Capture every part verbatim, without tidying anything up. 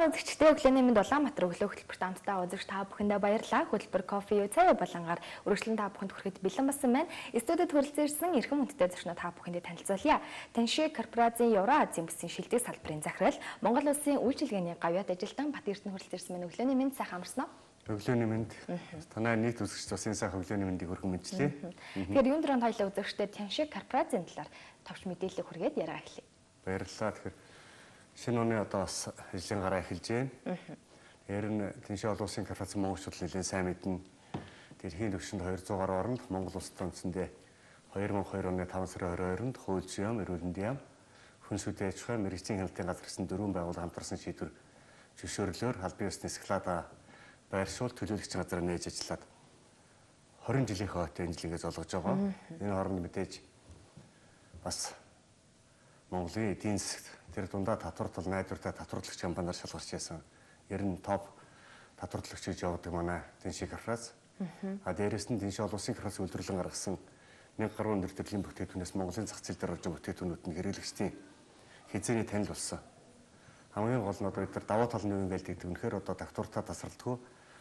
Сайн үзэгчдээ өглөөний мэнд Улаанбаатар өглөө хөтөлбөрт хамтдаа үзэгч та бүхэндээ баярлалаа. Хөтөлбөр кофе цай болонгаар үргэлжлэн та бүхэнд хүрэхэд бэлэн болсон байна. Студид хүрэлцээрсэн эрхэм хүндтэй зочноо та бүхэндээ танилцуулъя. Танши корпорацийн Евразийн бүсийн шилдэг салбарын захирал, Монгол улсын үйлчилгээний гавьяат ажилтан Бат Эрдэнэ хүрэлцээрсэн байна. Өглөөний мэнд сайхан амарсан уу? Өглөөний мэнд. Танай нийт үзэгч тусын сайхан өглөөний мэндийг хүргэн мэдчлээ. Тэгэхээр юунд дөрөнд хоёлаа үзэгчдээ Танши корпорацийн талаар товч мэдээлэл хүргээд яриа эхлэе. Баярлалаа. Тэгэхээр шинэ оны одоо бас ажлын гараа эхэлж байна. Тэр нь Танши олон улсын корпорацийн монголчууд нэлээд сайн мэднэ. Дэлхийн түвшинд двухсот гаруй оронд Монгол улсад үндсэндээ две тысячи two оны five сарын twenty-second-нд хууль зүйн эрүүл мэндийн яам, хүн сүдэ аж ахуй, мэргэжлийн хяналтын газар гэсэн дөрвөн байгууллага хамтарсан шийдвэр зөвшөөрлөөр албан ёсны Скалада байршуул төлөөлөгчийн газар нээж ажиллаад twenty жилийн хойтой энэ жилийгээ золгож байгаа. Энэ хооронд мэдээж бас Монголын эдийн засагт тэр дундаа татварлал найдвартай татварлагч компаниар шалгарч яасан. Ер нь топ татварлагч гэж явдаг манай Танши корпорац. А дээрэс нь Танши олон улсын корпорац үйлдвэрлэн гаргасан one гаруй өндөр төрлийн бүтээгдэхүүнээс Монголын зах зээл дээр орж байгаа бүтээгдэхүүнүүд нь хэрэглэгчдийн хязгаарыг танил болсон. Хамгийн гол нь одоо бид нар даваа талны үеийн байлддаг. Үнэхээр одоо татвартай тасралтгүй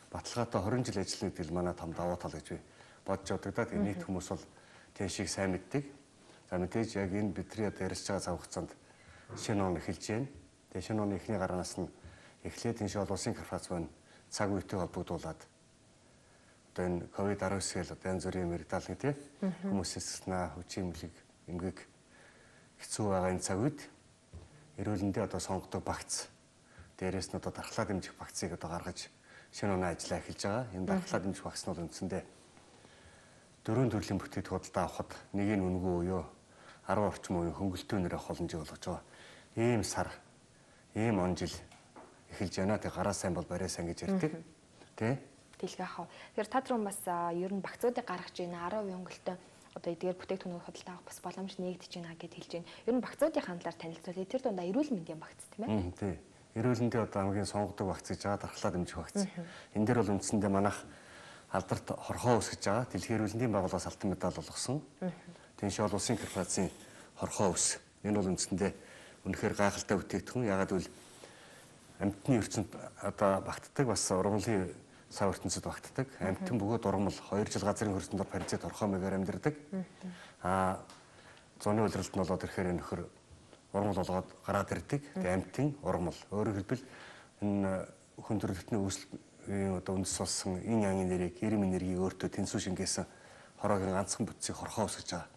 баталгаатай twenty жил ажиллана гэдэг нь манай том даваа тал гэж би бодож байдаг да. Тэгээ нийт хүмүүс бол Таншиг сайн мэддэг. За мэдээж яг энэ бидний одоо ярьж байгаа цаг хугацаанд шинэ он эхэлж байна. Тэгээ шинэ оны эхний гаранаас нь эхлээд Танши олон улсын корпорац байна цаг үетэй холбогдуулаад одоо энэ ковид nineteen гэл одоо янз бүрийн мэрэгдэл нэг тийм хүмүүсээс наа хүчин имлэг эмгэг хэцүү байгаа энэ цаг үед эрүүлэндээ одоо сонгодог багц дээрээс нь одоо дархлаа дэмжих багцыг одоо гаргаж шинэ оны ажиллаа эхэлж байгаа. Энэ дархлаа дэмжих багц нь бол үндсэндээ дөрвөн төрлийн бүтээгдэхүүнээ авахд нэг нь үнгүй буюу ten орчим үеийн хөнгөлтөө нэрээ холомжийг болгож байгаа. Ийм сар, ийм он жил эхэлж байна. Тэг гараа сайн бол барай сайн гэж ярьдаг. Тэ? Тэлгээ хав. Тэгэхээр та түрүүн бас ер нь багцуудыг гаргаж байна. ten percent хөнгөлтөө одоо эдгээр бүтээгдэхүүнүүд худалдаа авах бас боломж нээгдэж байна гэж хэлж байна. Ер нь багцуудын хандлаар танилцуулъя. Тэр дундаа эрүүл мэндийн багц тийм ээ? Тий. Эрүүл мэндийн одоо хамгийн сонгодог багц гэж байгаа дархлаа дэмжих багц. Энэ дээр бол үндсэндээ манайх алдарт хорхоо ус гэж байгаа. Дэлхийн эрүүл мэндийн байгууллагаас алтан медаль олгосон. Танши олон улсын корпорацийн хорхоо ус. Энэ бол үндсэндээ үнэхээр гайхалтай бүтээгдэхүүн. Ягаад гэвэл амьтны ертөнд одоо багтдаг бас ургамлын сав ертөнцид багтдаг. Амьтан бөгөөд ургамал two жил газрын хөрсөнд дор паразит хорхоо маягаар амьдардаг. Аа зуны улиралд нь болоод ирэхээр энэ нөхөр ургамал болгоод гараад ирдэг. Тэгээ амьтан ургамал. Өөрөөр хэлбэл энэ хүн төрөлхтний үүсэл одоо үндэс болсон энэ янгийн нэрийг эрэм энергийг өөртөө тэнцүү шингээсэн хороогийн ганцхан бүтцийг хорхоо ус гэж байгаа.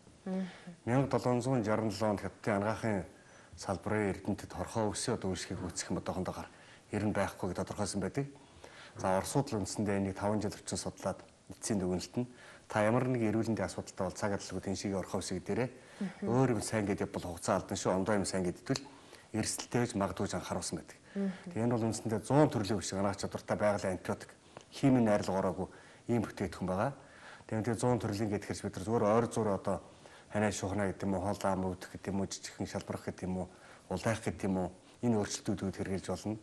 seventeen sixty-seven онд Хятадын анагаахын салбарын эрдэмтэд хорхоо үсээ одоо үйлчлэгийг үүсгэх юм одоохондоо ер нь байхгүй гэж тодорхойлсон байдаг. За Оросууд л үндсэндээ энийг five жил орчим судлаад эцсийн дүгнэлт нь та ямар нэг эрүүл мэндийн асуудалтай бол цаг адилгүй Таншигийн хорхоо үсэг дээрээ өөр юм сайн гэдэг бол хугацаа алдан шүү. Ондоо юм сайн гэдэгтэл эрсдэлтэйж магадгүй ч анхааруулсан байдаг. Тэгээ энэ бол үндсэндээ one hundred төрлийн үсэг анагаах чадвартай байгалийн антибиотик химийн найрлагаараагүй ийм бүтээгдэхүүн байгаа. Тэгээ one hundred төрлийн гэдгээрс бид нар зүгээр ойр зур одоо ханаа шухна гэдэг юм уу, хоолоо ам өвдөх гэдэг юм уу, жижигхэн шалбарах гэдэг юм уу, улайх гэдэг юм уу, энэ өөрчлөлтүүдүүд хэрэгжилж болно.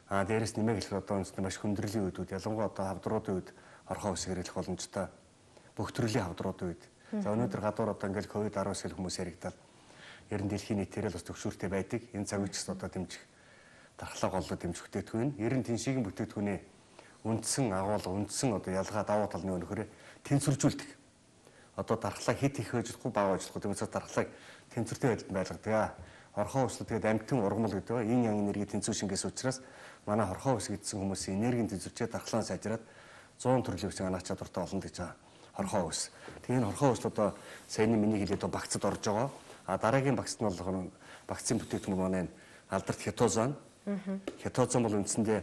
Аа дээрээс нэмээд хэлэхэд одоо үндсэндээ маш хүндрэлийн үедүүд, ялангуяа одоо хавдруудын үед хорхоо ус хэрэглэх боломжтой. Бүх төрлийн хавдруудын үед. За өнөөдөр гадуур одоо ингээл ковид nineteen хүмүүс яригдаад ер нь дэлхийн нийтээрээ бас төвшүүртэй байдаг. Энэ цаг үеч одоо дэмжих дархлаа голлоо дэмжих бүтээгдэхүүн. Ер нь Таншигийн бүтээгдэхүүний үндсэн агуулга, үндсэн одоо ялгаа давуу талны өнөхөрөө тэнцвэржүүлдэг. Одоо дархлаа хит их байж болохгүй бага байж болохгүй. Тэгмээс дархлааг тэнцвэртэй байдалд байлгадаг. Хорхоо ус тэгээд амьтан ургамал гэдэг ба энэ янгийн энерги тэнцүү шингээс учраас манай хорхоо ус гэдсэн хүмүүсийн энергийн тэнцвэрчээ дархлаан сайжраад one hundred төрлийн үсэг анагаах чадвартай болно гэж байгаа. Хорхоо ус. Тэгээд энэ хорхоо ус одоо саяны миний хэлээд багцад орж байгаа. А дараагийн багцд нь бол багцын бүтээгдэхүүн манай алдарт хятозан. Хятозан бол үндсэндээ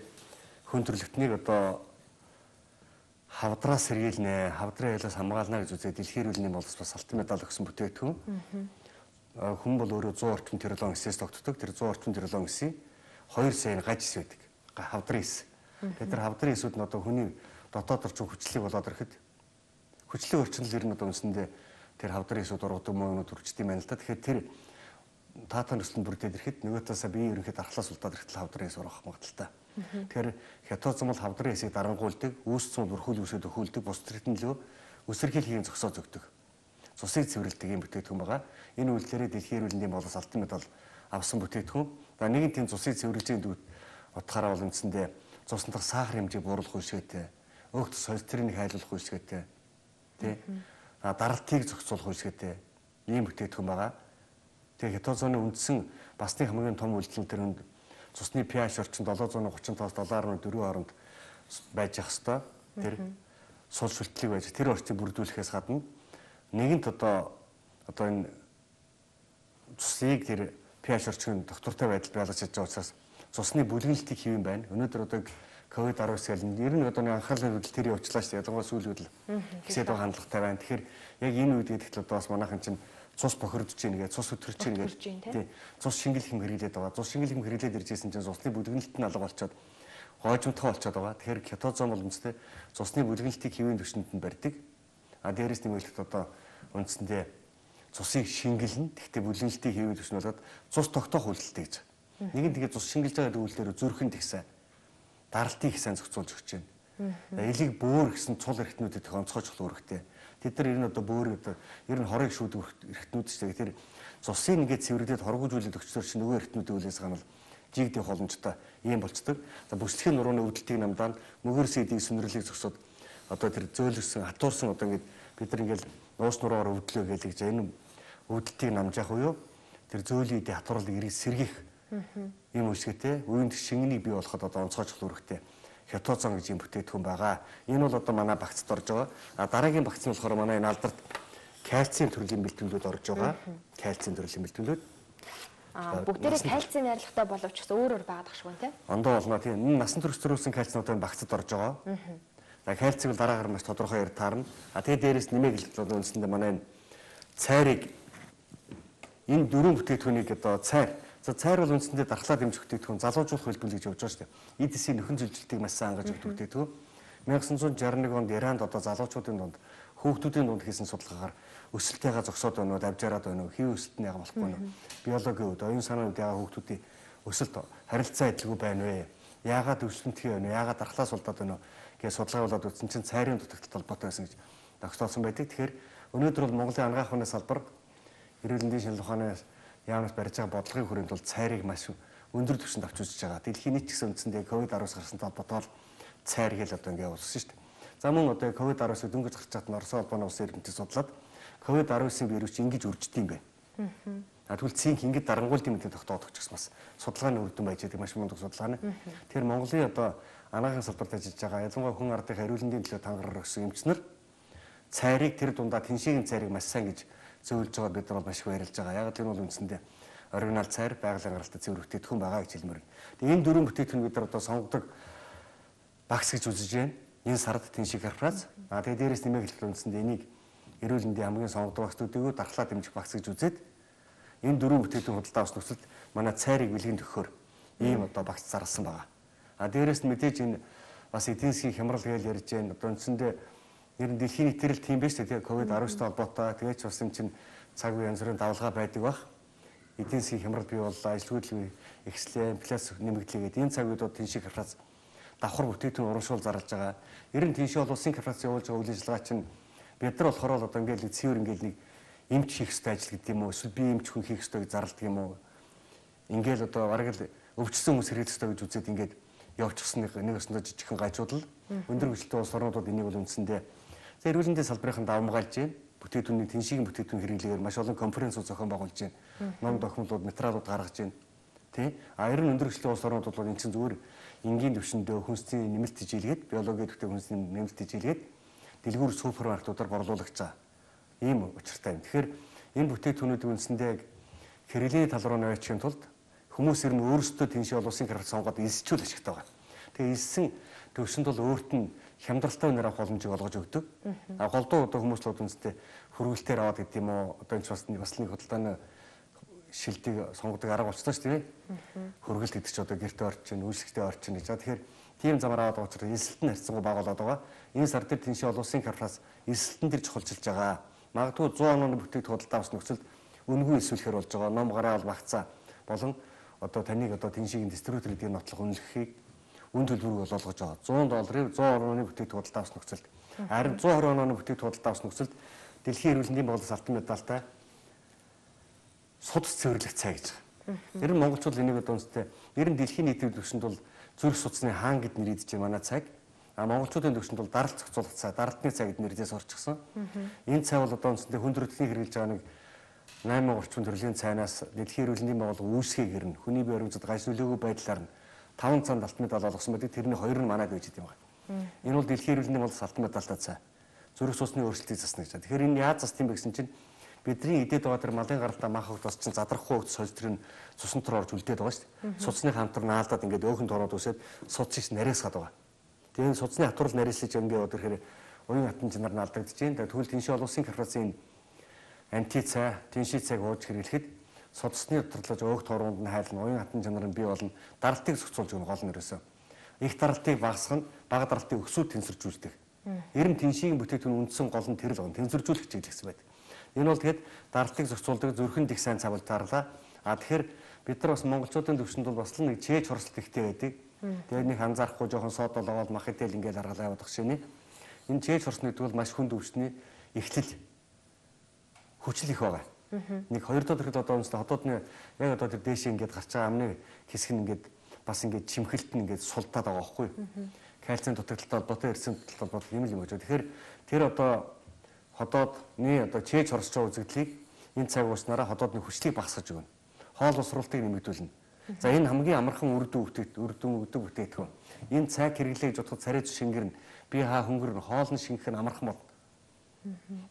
хүн төрөлхтнийг одоо хавдраас сэргийлнэ, хавдрын айлаас хамгаална гэж үзээ дэлхийн эрүүл мэндийн боловс бас алтан медаль өгсөн бүтээгдэхүүн. Хүн бол өөрөө one hundred орчим теролон эсээс тогтдог. Тэр one hundred орчим теролон эсийн two сая гаж эс байдаг. Хавдрын эс. Тэгээд тэр хавдрын эсүүд нь одоо хүний дотоод орчин хүчлийг болоод ирэхэд хүчлийн орчнол ер нь одоо үндсэндээ тэр хавдрын эсүүд ургадаг мөнгөнд төрчдөг юм байна л да. Тэгэхээр тэр таатан нөхцөл бүрдээд ирэхэд нөгөө таасаа бие ерөнхийд дархлаас улдаад ирэхэд хавдрын эс ургах магадaltaй. Тэгэхээр хятадсан бол хавдрын эсийг дарангуйлдаг, үүсцэн бүрхүүл үсэд өхүүлдэг, бус төрөлтөн лөө өсөрхийлийн зогсоо зөгдөг. Цусыг цэвэрлэдэг юм бүтээгдэхүүн байгаа. Энэ үйлдэлээр дэлхийн эрүүл мэндийн боловс алтан медаль авсан бүтээгдэхүүн. За нэгэн тийм цусыг цэвэрлэжийн дүүд Утгаараа бол үндсэндээ цусны дах сахар хэмжээг бууруулах үйлчилгээтэй, өөх тус холестеринийг хайлуулах үйлчилгээтэй, тий. А даралтыг зохицуулах үйлчилгээтэй ийм бүтээгдэхүүн байгаа. Тэгээ кетозоны үндсэн басны хамгийн том үйлдэл төр цусны pH орчин долоон гурван тоос долоон гаруй дөрвөн хооронд байж ах хэвээр. Тэр сул шүлтлэг байж тэр орчийг бүрдүүлэхээс гадна нэгэнт одоо одоо энэ цусыг тэр pH орчин доктортой байдал байлгаж чадж байгаа учраас цусны бүлгэлтийг хийвэн байна. Өнөөдөр одоо ковид аравс гэл ер нь одоо нэг анхаарлын хөдөл тэр явуулчлаа шүү дээ. Ялангуяа сүүл хөдөл гэсээд байгаа хандлагатай байна. Тэгэхээр яг энэ үед гэдэгт одоо бас манайхан чинь цус бохирдож чинь гээ цус өтрөж чинь гээ тий цус шингэл хэм хэрэглээд байгаа. Цус шингэл хэм хэрэглээд иржсэн чинь цусны бүлгэлт нь алга болчиход гойжмтгай болчиход байгаа. Тэгэхээр кетозон бол үндсэндээ цусны бүлгэлтийг хэвийн төвшөнд нь барьдаг. А дээрээс нэмэлт одоо үндсэндээ цусыг шингэлнэ. Тэгтээ бүлгэлтийг хэвийн төвшин болоод цус тогтоох үйлдэлтэй гэж. Нэг нь тэгээ цус шингэлж байгаа үйлдэлээр зүрхэнд ихсэн даралтыг ихсэн зохицуулж өгч байна. Элийг бөөр гэсэн цул эрхтнүүдэд их онцгойч өрхтэй. Тэд нар ер нь одоо бөөр одоо ер нь хорыг шүүдэг эрхтнүүд шүү дээ. Тэр цусыг ингээд цэвэрлээд хоргожүүлээд өгчдөр чинь нөгөө эрхтнүүдийн үлээс ганал жигдэх боломжтой ийм болцдог. За бүслэхийн нурууны өвдөлтийг намдаа мөгөр сэдийг сүнрэрлийг зогсоод одоо тэр зөөлөрсөн хатуурсан одоо ингээд бид нар ингээд нуус нуруугаар өвдлөө гэж гэж энэ өвдөлтийг намжаах уу тэр зөөлийг хатуурлыг ирэх сэргийх ийм үйлчлэгтэй үеийн шингэнийг бий болоход одоо онцгойч өрхтэй хятозон гэж юм бүтээгдэхүүн байгаа. Энэ бол одоо манай багцд орж байгаа. А дараагийн багц нь болохоор манай энэ алдарт кальцийн төрлийн бэлтгэлүүд орж байгаа. Кальцийн төрлийн бэлтгэлүүд. А бүгдээрээ кальцийн найрлагатай боловч бас өөр өөр байгаад багш гүн тий. Ондоо болно тийм. Энэ насан турш төрүүлсэн кальцинууд энэ багцд орж байгаа. За кальцийг бол дараагаар маш тодорхой яар таарна. А тэгээ дээрээс нэмээд хэлбэл үндсэндээ манай энэ цайрыг энэ дөрвөн бүтээгдэхүүнийг одоо цайр за цайр бол үндсэндээ дархлаа дэмжих бүтээгдэхүүн залуужуулах хэлбэл гэж явж байгаа шүү дээ. Эдисийн нөхөн зөвлөлтийг маш сайн ангаж өгдөг бүтээгдэхүүн. мянга санаа зуун жарганы нэг онд Иранд одоо залуучуудын дунд хүүхдүүдийн дунд хийсэн судалгаагаар өсөлттэйгээ зогсоод байна уу, давжаараад байна уу, хий өсөлт нь яга болохгүй нь биологийн үед оюун санааны үед яга хүүхдүүдийн өсөлт харилцаа адилгүй байна вэ? Яагаад өсөлттэй байна вэ? Яагаад дархлаа сулдаад байна уу гэж судалгаа болоод үзсэн чинь цайрын дутагталтай холбоотой байсан гэж тогтоосон байдаг. Тэгэхээр өнөөдөр бол Монголын анагаах ухааны салбар эрүүл мэндийн шинжилгээ ухааны яамнаас барьж байгаа бодлогын хүрээнд бол цайрыг маш өндөр түвшинд авч үзэж байгаа. Дэлхийн нийт гэсэн үндсэндээ ковид аравс гарсантай холбоотойгоор цайр хэл одоо ингэ явуулсан шүү дээ. За мөн одоо ковид аравсыг дөнгөж гарч чадсан Орос улбаны улсын эрдэмтэд судлаад ковид аравсын вирус ингэж үржиж юм бэ. А тэгвэл цинк ингэж дарангуйлт юм гэдэг тогтоодох ч гэсэн бас судалгааны үр дүн байж байгаа маш мундаг судалгаа нь. Тэгэхээр Монголын одоо анагаахын салбарт ажиллаж байгаа ялангуяа хүн ардын эрүүл мэндийн төлөө тангараар өгсөн эмчнэр цайрыг тэр дундаа тэншээгийн цайрыг маш сайн гэж зөвлөж байгаа бид нар бол маш их баярлж байгаа. Яг тэр нь бол үндсэндээ оригинал цайр байгалийн гаралтай цэвэр бүтээгдэхүүн байгаа гэж хэлмээр. Тэгээ энэ дөрвөн бүтээгдэхүүн бид нар одоо сонгодог багс гэж үзэж байна. Энэ сард тэншиг карфраз. А тэгээ дээрээс нэмээд хэлбэл үндсэндээ энийг эрүүл мэндийн хамгийн сонгодог багцуудыг дархлаа дэмжих багс гэж үзээд энэ дөрвөн бүтээгдэхүүн худалдаа авах нөхцөлд манай цайрыг бэлгийн төгөхөөр ийм одоо багц зарласан байгаа. А дээрээс нь мэдээж энэ бас эдийн засгийн хямрал гэж ярьж байна. Одоо үндсэндээ ер нь дэлхийн нийтлэл тийм биш үү? ковид аравстай холбоотой тэгээд ч бас юм чинь цаг үе янз бүрийн давлгаа байдаг бах. Эдийн засгийн хямрал бий боллоо, ажилгүйдэл ихслээ, инфляци нэмэгдлээ гэдэг энэ цаг үед тэншиг карфрац давхар бүтээгдэхүүн урамшуул зарлж байгаа. Ер нь тэншиг бол улсын карфрац явуулж байгаа үйл ажиллагаа чинь бид нар болохоор одоо ингээл цэвэр ингээл нэг эмч хийх ёстой ажил гэдэг юм уу? Эсвэл би эмч хүн хийх ёстой гэж зарладаг юм уу? Ингээл одоо бараг л өвчсөн хүмүүс хэрэглэх ёстой гэж үзээд ингээд явуулчихсан нэг нэг өсөндөө жижигхэн гажуудал өндөр хүчтэй улс орнуудад энийг бол үндсэндээ за эрүүл мэндийн салбарын давмгаалж байна. Бүтээгдэхүүний тэншигийн бүтээгдэхүүн хэрэглэгээр маш олон конференцүүд зохион байгуулж байна. Ном документууд, материалууд гаргаж байна. Тэ? А ер нь өндөр хүчтэй улс орнуудад бол энэ чинь зүгээр энгийн төвшөндөө хүнсний нэмэлт хичээлгээд, биологийн төвтэй хүнсний нэмэлт хичээлгээд дэлгүүр супермаркетуудаар борлуулагч байгаа. Ийм учиртай юм. Тэгэхээр энэ бүтээгдэхүүнүүдийн үндсэндээ хэрэглээний тал руу наваачихын тулд хүмүүс ер нь өөрсдөө тэншээ улсын карфрац сонгоод элсчүүл ашигтай байгаа. Тэгээ элсэн төвшөнд бол өөрт нь хямдралтай үнээр авах боломжийг олгож өгдөг. А голдуу одоо хүмүүс л үндсдээ хөргөлтөөр аваад гэдэг юм уу? Одоо энэ бас нэг бас нэг худалдааны шилдэг сонгодог арга болчихсон шүү дээ. Хөргөлт гэдэг чинь одоо гэрте орж чинь, үйлчлэгтээ орж чинь гэж. За тэгэхээр тийм замаар аваад учраас элсэлтэн харьцангуй бага болоод байгаа. Энэ сар дээр тэншээ улсын карфрац элсэлтэн дээр чухалчилж байгаа. Магадгүй зуун оны бүтээгдэхүүн худалдаа авах нөхцөлд үнгүй эсвэлэхэр болж байгаа. Ном гараа бол багцаа болон одоо таныг одоо тэншигийн дистрибьютор гэдгийг нотлох үнэлэхийг үн төлбөрөөр олгож байгаа. зуун долларын зуун оны бүтээгдэхүүн худалдаа авах нөхцөлд харин зуун хорвоо оны бүтээгдэхүүн худалдаа авах нөхцөлд дэлхийн эрүүл мэндийн байгууллагаас алтан медальтай судас цэвэрлэх цай гэж байгаа. Ер нь монголчууд энийг одоо үнэтэй ер нь дэлхийн нийтийн төвшөнд бол зүрх судасны хаан гэд нэрийдэж манай цаг. А монголчуудын төвшөнд бол даралт зохицуулах цай, даралтны цай гэд нэрдээс орчихсон. Энэ цай бол одоо үндсэндээ хүндрэлтний хэрэгжилж байгаа нэг найман орчим төрлийн цайнаас дэлхийн эрүүл мэндийн байгууллага үүсгэе гэрнэ. Хүний бие баримтад гаж нөлөөгөө байдлаар нь таван цаанд алтан медаль олгосон байдаг. Тэрний хоёр нь манайд байж идэм байна. Энэ бол дэлхийн эрүүл мэндийн байгууллагаас алтан медальтай цай. Зүрх судасны өөрчлөлтийг засна гэж. Тэгэхээр энэ яаж засна юм бэ гэсэн чинь бидний идээд байгаа тэр малын гаралтай мах хогдос чинь задрахгүй хогдос хойж тэр нь цусан төр орж үлдээд байгаа шүү дээ. Судасны хамтар наалдаад ингээд өөхөнд ороод үсээд судсыг нарийсгаад байгаа. Тэгээ энэ судасны хатвар нарийсаж ингээд одоо тэгэхээр уян хатан чинар наалдагдаж байна. Тэгвэл Тэншээ олон улсын корпорацийн анти цай, Тэншээ цайг ууж хэрэглэхэд судасны доторлож өөх тоороонд нь хайлна, уян хатан чинар нь бий болно. Даралтыг зохицуулж өгнө гол нь ерөөсөө. Их даралтыг багасгах нь бага даралтыг өксүүд тэнцвэржүүлдэг. Эрэм Тэншээгийн бүтээгдэхүүн үндсэн гол нь тэр л гон тэнцвэржүүлэх чиглэл гэсэн байдаг. Энэ бол тэгэхэд даралтыг зохицуулдаг зүрхэнд их сайн цавал таарлаа. А тэгэхээр бид нар бас монголчуудын төвшөнд бол бас л нэг чээж хорслт ихтэй байдаг. Тэгээд нэг анзаарахгүй жоохон содол аваад мах идэл ингээл аргалаа яваад багшийн. Энэ чээж хорсны гэдэг бол маш хүнд өвчтний эхлэл хүчил их байгаа. Нэг хоёр дахь төрөл одоо үнэстэй хотоодны яг одоо тэр дээшээ ингээд гарч байгаа амны хэсэг нь ингээд бас ингээд чимхэлт нь ингээд султаад байгаа байхгүй. Кальцийн дутагдaltaй холбоотой эрсийн холбоотой юм л юм гэж. Тэгэхээр тэр одоо ходоодны одоо чээж хорсож байгаа үзэгдлийг энэ цаг ууснараа ходоодны хүчлийг багасгаж өгнө. Хоол усруултыг нэмэгдүүлнэ. За энэ хамгийн амархан үр дүн бүтээгт үр дүн өгдөг бүтээгдэхүүн. Энэ цаг хэрэглэе гэж бодоход царай шингэрнэ. Би хаа хөнгөрнө. Хоол нь шингэх нь амархан болно.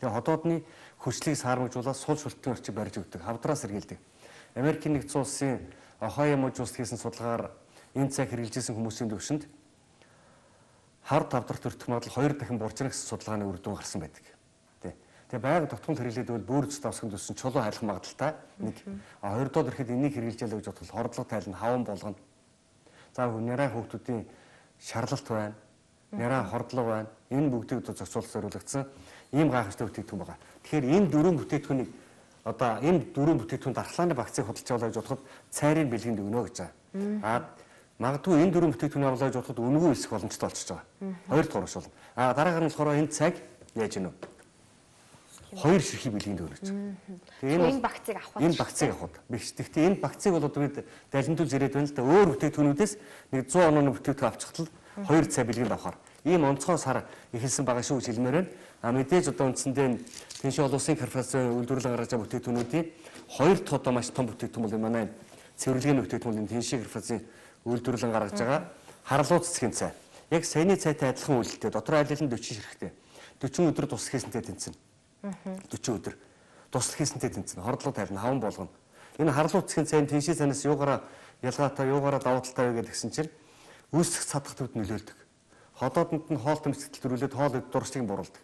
Тэгээ ходоодны хүчлийг саармагжуулаад сул шүлтэн орчиг барьж өгдөг. Хавдраас сэргийлдэг. Америкийн нэгдсэн улсын Ohio мужууст хийсэн судалгаар энэ цаг хэрэгжилжсэн хүмүүсийн төвшөнд хар тавдрах төртөх магадлал хоёр дахин буржина гэсэн судалгааны үр дүн гарсан байдаг. Тэгээ байгаль тогтмол хэрэглээд бол бүр зүйн давсганд өссөн чулуу хайлах магадaltaй нэг. А хоёрдоод ирэхэд энийг хэрэгжилжээ гэж бодвол хордлого тайлна, хаван болгоно. За няраа хүүхдүүдийн шарлалт байна. Няраа хордлого байна. Энэ бүгдийг одоо зохицуулах зориулагдсан ийм гайхамшигтай бүтээгдэхүүн байгаа. Тэгэхээр энэ дөрвөн бүтээгдэхүүнийг одоо энэ дөрвөн бүтээгдэхүүн дархлааны багцыг худалдаж авлаа гэж бодоход цайрын бэлгэнд өгнө гэж байгаа. А магадгүй энэ дөрвөн бүтээгдэхүүнийг авлаа гэж бодоход үнэгүй өсөх боломжтой болчихж байгаа. Хоёр дахь урагш болно. А дараагаар нь болохоор энэ цаг яаж гэнэ вэ? Хоёр ширхий бэлгэнд өгнө гэж. Тэгээ энэ багцыг авах. Энэ багцыг авах. Бигч. Гэхдээ энэ багцыг бол одоо бид далимтуул зэрэг байна л да. Өөр бүтээгдэхүүнүүдээс нэг зуун онооны бүтээгдэхүүн авчихтал хоёр цай бэлгэнд авахар. Ийм онцгой сар эхэлсэн байгаа шүү гэж хэлмээр байна. А мэдээж одоо үндсэндээ Тэншээ олон улсын корпорацийн үйлдвэрлэн гаргаж байгаа бүтээгдэхүүнүүдийн хоёр дахь одоо маш том бүтээгдэхүүн бол манай цэвэрлэгээний бүтээгдэхүүн Тэншээ корпорацийн үйлдвэрлэн гаргаж байгаа харлуу цэцгийн цай. Яг саяны цайтай адилхан үйлдэлтэй. Дотор айл нь дөрвөн ширхтэй. дөрвөн өдөр туслах хийсэнтэй тэнцэнэ. дөрвөн өдөр туслах хийсэнтэй тэнцэнэ. Хордлого тайлна, хаван болгоно. Энэ харлуу цэцгийн цайн Тэншээ цайнаас юугаараа ялгаатай, юугаараа давуу талтай вэ гэдгсэн чинь үүсэх цадах төвд нөлөөлдөг. Ходоодонд нь хоол тэмцэгдэл төрүүлээд хоол дуршлыг буруулдаг.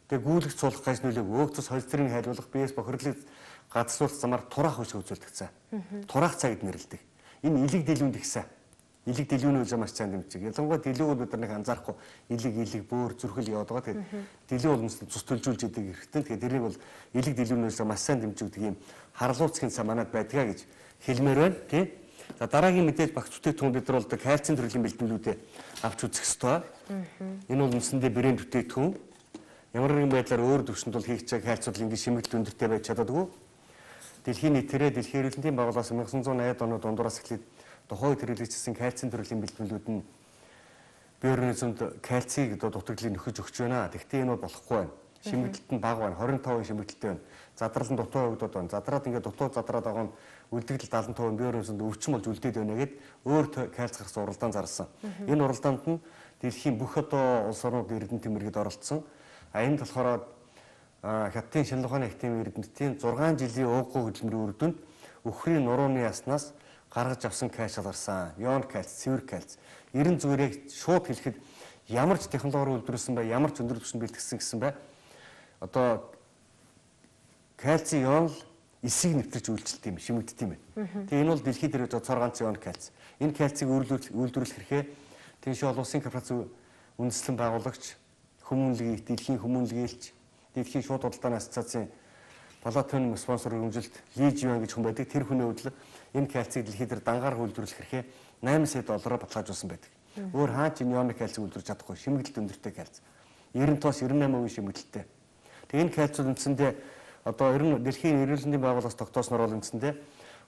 Тэгээ гүйлгэж суулгах гаж нөлөөг өөгцөс холестерин хайлуулах, биеэс бохирлыг гадсуулах замаар тураах хөшөө үзүүлдэг цай. Тураах цай гэд нэрлэдэг. Энэ илэг дэлгүүнд ихсэн. Илэг дэлгүүний үйл маш сайн дэмжиг. Ялангуяа дэлгүүр бол бид нар нэг анзаарахгүй илэг илэг бөөр зүрхэл яваад байгаа. Тэгээд дэлгүү бол цус төлжүүлж идэг хэрэгтэй. Тэгээд тэрийг бол илэг дэлгүүний үйл маш сайн дэмжигдэг юм харлууцгийн цай манад байдгаа гэж хэлмээр байна. Тийм. За дараагийн мэдээж багц бүтээгдэхүүн бид нар бол кальцийн төрлийн бэлтгэлүүдээ авч үзэх ёстой. Энэ бол үндсэндээ брэнд бүтээгдэхүүн. Ямар нэгэн байдлаар өөр төвшөнд бол хийх чаг кальц бол ингээд шимэгдэл өндөртэй байж чаддаггүй. Дэлхийн нийтээрээ дэлхийн эрүүл мэндийн байгууллагаас 천구 найдаад оны дундуураас эхлээд тухайн үед хэрэглэгдсэн кальцийн төрлийн бэлтгэлүүд нь бие организмд кальцийг одоо дутагдлыг нөхөж өгч байна. Тэгвэл энэ бол болохгүй байна. Шимэгдэлт нь бага байна. двадцать пять шимэгдэлтэй байна. Задрал нь дутуу хөгдөд байна. Задраад ингээд дутуу задраад байгаа нь үлдэгдэл семьдесят пять бие организмд өвчин болж үлдээд байна гэд өөр кальц гарсан уралдаан зарласан. Энэ уралдаанд нь дэлхийн бүх одоо улс орнууд эрдэнэ тэмэргэд оролцсон. А энэ болохоор Хятадын шинэ ухааны академийн эрдэмтдийн зургаан жилийн ууггүй хөдөлмөрийн үр дүнд өхрийн нурууны яснаас гаргаж авсан кальц гарсан. Ион кальц, цэвэр кальц. Ерэн зүгээр яг шууд хэлэхэд ямар ч технологиор үйлдвэрлэсэн бай, ямар ч өндөр түвшинд бэлтгэсэн гэсэн бай. Одоо кальцийн ион эсийг нэвтэрч үйлчлэлт юм, шимэгддэг юм байна. Тэгээ энэ бол дэлхийд дээрээ цор ганц ион кальц. Энэ кальцийг үйлдвэрлэх хэрэгээ Тэншээ олон улсын корпорац үндэслэн байгуулагч, хүмүүнлэгийн дэлхийн хүмүүнлэgiйлч, дэлхийн шууд худалдааны ассоциацийн палатын спонсор хэмжилт Ли Живан гэж хүн байдаг. Тэр хүний хувьд энэ кальцийг дэлхийд дээр дангаар үйлдвэрлэх хэрэгээ найман сая доллараар баталгаажуулсан байдаг. Өөр хаа ч энэ ион кальцийг үйлдвэрлэж чадахгүй шимэгдэлт өндөртэй кальц. девяносто тоос девяносто восемь % шимэгдэлтэй. Тэгээ энэ кальцууд үндсэндээ одоо ер нь дэлхийн эрүүл мэндийн байгууллагаас тогтоосноор бол үндсэндээ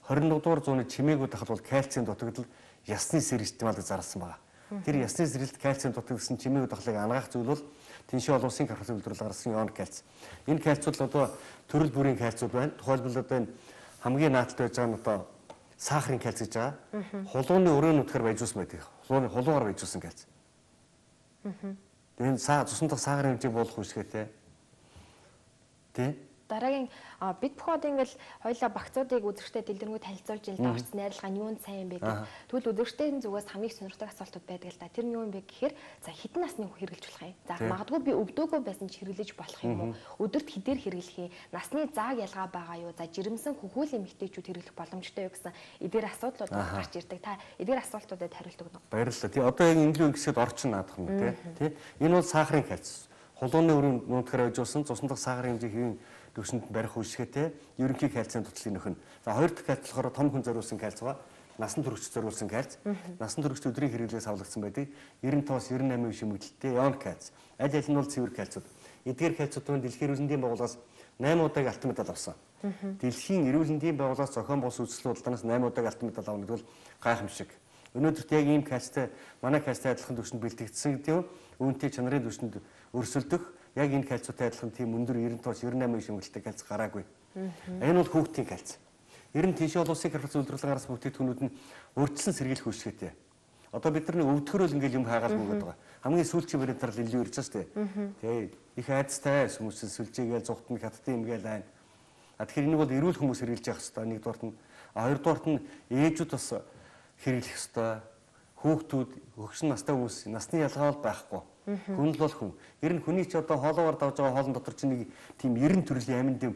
двадцать нэгдүгээр зууны чимээгүүд ахад бол кальцийн дутагдал ясны сэр стималыг зарласан байгаа. Тэр ясны сэрэлт кальцийн дутагдсан чимээ удахлыг ангаах зүйл бол тэншээ олон улсын карбоны үйлдвэрлэл гаргасан ион кальц. Энэ кальцууд одоо төрөл бүрийн кальцууд байна. Тухайлбал одоо энэ хамгийн наадтай байж байгаа нь одоо сахарын кальц гэж байгаа. Хулууны өрөөний утгаар баяжуулсан байдаг. Хулууны хулуугаар баяжуулсан кальц. Тэгээд саа цусан дахь сахарын хэмжээг буулгах үүсгэтэй. Тэ? Дараагийн бид бүхд ингээл хоёлаа багцуудыг үзэгчтэй дэлгэрэнгүй танилцуулж ил да орц найрлага нь юунд сайн бэ гэх. Тэгвэл үзэгчдийн зүгээс хамгийн сонирхдаг асуултууд байдаг л да. Тэр нь юу юм бэ гэхээр за хэдэн насны хүн хэрэглэж болох юм? За магадгүй би өвдөөгүй байсан ч хэрэглэж болох юм уу? Өдөрт хэдээр хэрэглэх юм? Насны зааг ялгаа байгаа юу? За жирэмсэн хөхүүл эмэгтэйчүүд хэрэглэх боломжтой юу гэсэн эдгээр асуудлууд гарч ирдэг. Та эдгээр асуултуудад хариулт өгнө үү? Баярлалаа. Тий одоо яг инглүү ингэсэд орчин наадах юм тий. Энэ бол сахарын кальц. Хулууны өрөөнд нутгаар ажилласан цусан дахь сахарын хэмжээ хэвийн төвшөнд барих үйлчилгээтэй ерөнхий кальцийн тутлын нөхөн. За хоёр дахь кальц болохоор том хүн зориулсан кальц ба насан туршид зориулсан кальц. Насан туршид өдрийн хэрэглээс авлагдсан байдаг. девяносто тоос девяносто восемь шимэгдэлтэй ион кальц. Аль аль нь бол цэвэр кальцууд. Эдгээр кальцуудын дэлхийн эрүүл мэндийн байгууллагаас восемь удаагийн алтан медаль авсан. Дэлхийн эрүүл мэндийн байгууллагаас зохион байгуулсан үзэсгэлэн уралдаанаас восемь удаагийн алтан медаль авна гэдэг бол гайхамшиг. Өнөөдөрт яг ийм кальцтай манай кальцтай адилхан төвшөнд бэлтгэгдсэн гэдэг нь үүнтэй чанарын төвшөнд өрсөлдөх яг энэ кальцуутай адилхан тийм өндөр девяносто тоос девяносто восемь шимэгдэлтэй кальц гараагүй. Энэ бол хүүхдийн кальц. Ер нь тийш олон улсын карбоны үйлдвэрлэл гаргасан бүтээгдэхүүнүүд нь урьдчилан сэргийлэх үйлчилгээтэй. Одоо бид нар өвдгөрөөл ингээл юм хаагаад мөгөд байгаа. Хамгийн сүүлчийн баримтаар л илүү ирж байгаа шүү дээ. Тэгээ их айцтай хүмүүс сүлжээгээл зүгтэн хаттын юм гээл байна. А тэгэхээр энийг бол эрүүл хүмүүс хэрэглэж явах хэрэгтэй. Нэгдүгээрт нь хоёрдугаарт нь ээжүүд бас хэрэглэх хэрэгтэй. Хүүхдүүд хөгшин настай хүмүүс насны ялгаа байхгүй. Хүн л бол хүн. Ер нь хүний ч одоо хоолоогоор давж байгаа хоолн дотор чинь нэг тийм ерэн төрлийн амин дэв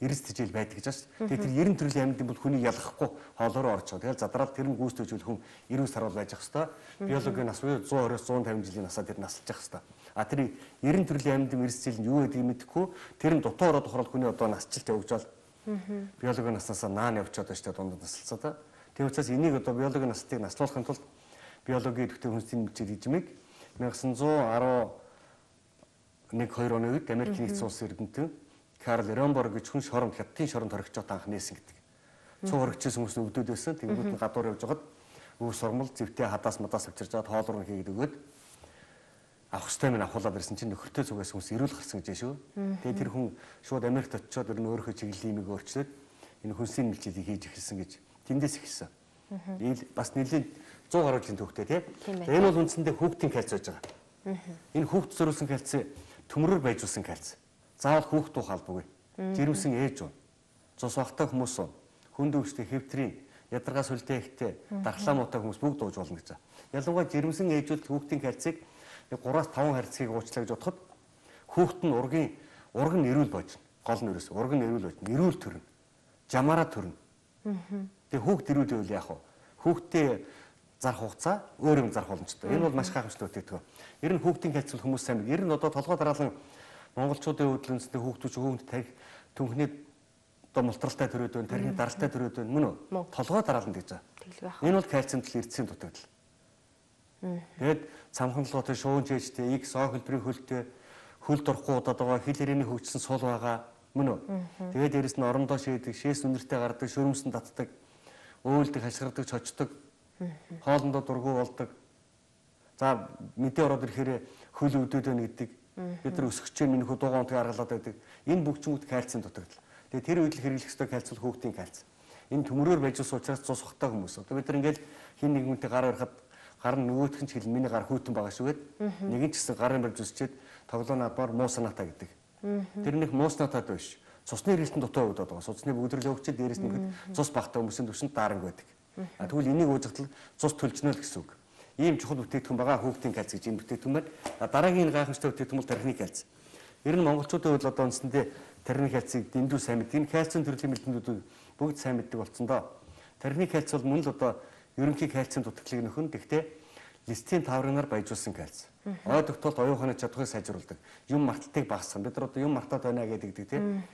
эрс тэжээл байдаг гэж байна шүү дээ. Тэгээд тэр ерэн төрлийн амин дэв бол хүний ялгахгүй хоолоор орж байгаа. Тэгээд задраад тэр нь гүйцэтгэж хүн эрүүл сарвал байж ах хэвээр. Биологийн нас буюу цent twenty-с one fifty жилийн насаа тэр насалж ах хэвээр. А тэр ерэн төрлийн амин дэв эрс тэжээл нь юу гэдгийг мэдэхгүй тэр нь дутуу ороод тохирол хүний одоо насжилт явагдвал биологийн наснасаа наан явчихад байна шүү дээ дундад насалцаа та. Тэр учраас энийг одоо биологийн настыг наслуулахын тулд биологийн идэвхтэй хүнсний мэдчил эзэмийг nineteen eleven two оны үед Америкийн нэгдсэн улсын эрдэмтэн Карл Ромборг гэж хүн шоронд хятадын шоронд хоригчод анх нээсэн гэдэг. Цуу хоригчсэн хүмүүс нь өвдөд байсан. Тэнгүүд нь гадуур явж байгаад өв сурмал зэвтэй хадаас мадаас авчирж аваад хоол руу хийгээд өгөөд авах хөстэй минь авахуулаад ирсэн чинь нөхөртэй зүгээс хүмүүс ирүүл гарсан гэж шүү. Тэгээд тэр хүн шууд Америкт очиод ер нь өөрийнхөө чиглэлийн имийг өөрчлөөд энэ хүнсний мэлчилийг хийж эхэлсэн гэж тэндээс эхэлсэн. Ийм бас нэлийн one hundred гаруй жилийн төвхтэй тийм. Энэ бол үндсэндээ хүүхдийн кальц байж байгаа. Энэ хүүхд зориулсан кальц төмрөөр байжуулсан кальц. Заавал хүүхд дуу халбгүй. Жирэмсэн ээж уу. Цус багтай хүмүүс уу. Хүнд өвчтэй хэвтрийн ядаргаа сүлдээ ихтэй дархлаа муутай хүмүүс бүгд дууж болно гэж байна. Ялангуяа жирэмсэн ээжүүд хүүхдийн кальцыг three-аас five харьцгийг уучлаа гэж бодоход хүүхд нь ургийн ураг нь эрүүл болж гол нь ерөөс ураг нь эрүүл болж эрүүл төрнө. Жамаараа төрнө. Тэгээ хүүхд эрүүл байвал яах вэ? Хүүхдээ зарах хугацаа өөр юм зарах боломжтой. Энэ бол маш гайхамшигтай үтгэдэг. Ер нь хүүхдийн кальц хүмүүс сайн. Ер нь одоо толгой дараалан монголчуудын хөдөлгөөнөстэй хүүхдүүд хүүхд тарих түнхний одоо мултралтай төрөөд байна, тархины даралтай төрөөд байна мөн үү? Толгой дараалан гэж байгаа. Энэ бол кальцийн төл эрдэсийн дутагдал. Тэгээд цамханлагуудын шуун жижтэй, X O хөлбөрийн хөлтэй, хөл дурахгүй удаад байгаа, хил хэрээний хөгжсөн сул байгаа мөн үү? Тэгээд дээрэс нь орондоо шийдэг, шээс үнэртэй гардаг, шөрөмсөн татдаг, өөлдөг, хашгирдаг, чочдог, хоолндоо дургу болдог. За мэдээ ороод ирэхээр хөл өвдөд байна гэдэг. Бид нар өсгөчээр минь хөө дуугаан унтыг аргалаад байдаг. Энэ бүгчмүүд кальцийн дутагдал. Тэгээ тэр үед л хэрэглэх ёстой кальц бол хүүхдийн кальц. Энэ төмрөөр байжуулсан учраас цус ухтай хүмүүс. Одоо бид нар ингээл хин нэг хүнтэй гар барихад гар нь нөгөөх нь ч хэл миний гар хүйтэн байгаа шүүгээд нэг нь ч гэсэн гарын барьж үсчээд тоглоо надмаар муу санаатай гэдэг. Тэр нэг муу санаатай биш. Цусны хэрэглэлтэн дутуу өгдөд байгаа. Цусны бүгдрэл өгчөөд дээрээс нь цус багтаа хүмүүсийн төвшөнд даранг байдаг. А тэгвэл энийг уужтал цус төлжнө л гэсэн үг. Ийм чухал бүтээгдэхүүн байгаа хүүхдийн кальц гэж энэ бүтээгдэхүүн байна. Дараагийн гайхамшигтай бүтээгдэхүүн бол тархины кальц. Ер нь монголчуудын хувьд одоо үндсэндээ тархины кальцыг дэндүү сайн мэддэг. Энэ кальцийн төрлийн бэлтгэлүүд бүгд сайн мэддэг болсон доо. Тархины кальц бол мөн л одоо ерөнхий кальцийн дутагдлыг нөхөн. Гэхдээ листийн таврынаар баяжуулсан кальц. Ой тогтолт оюун ухааны чадварыг сайжруулдаг. Юм марталтыг багасгах. Бид нар одоо юм мартаад байна гэдэг тийм.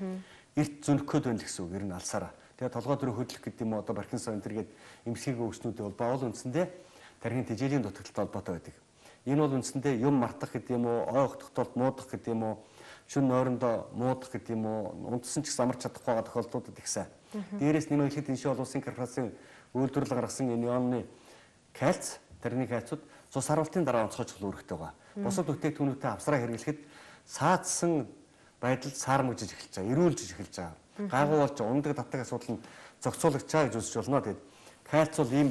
Эрт зөнөх гээд байна гэсэн үг. Ер нь алсаараа. Тэгээ толгой дөрөв хөдлөх гэдэг юм уу одоо Паркинсон энэ төргээд эмсгийг өвчнүүд бол баавал үндсэндээ тархины тэжээлийн дутагдaltaй холбоотой байдаг. Энэ бол үндсэндээ юм мартах гэдэг юм уу, ой тогтолт муудах гэдэг юм уу, шүн нойрондоо муудах гэдэг юм уу, унтсан ч гэсэн амарч чадахгүй байгаа тохиолдлуудад ихсэн. Дээрээс нэмээд хэлэхэд энэ шин олон улсын корпорацийн үйлдвэрлэл гаргасан энэ ионны кальц, тэрний кальцууд цус харуултын дараа онцгой чухал үүрэгтэй байгаа. Бусад бүтээгдэхүүнүүдэд авсраа хэрэглэхэд саадсан байдалд саармагжиж эхэлж байгаа, эрүүлжиж эхэлж байгаа. Гайгүй болж ундаг татдаг асуудал нь зохицуулагч байгаа гэж үзэж болно. Тэгээд кальц бол ийм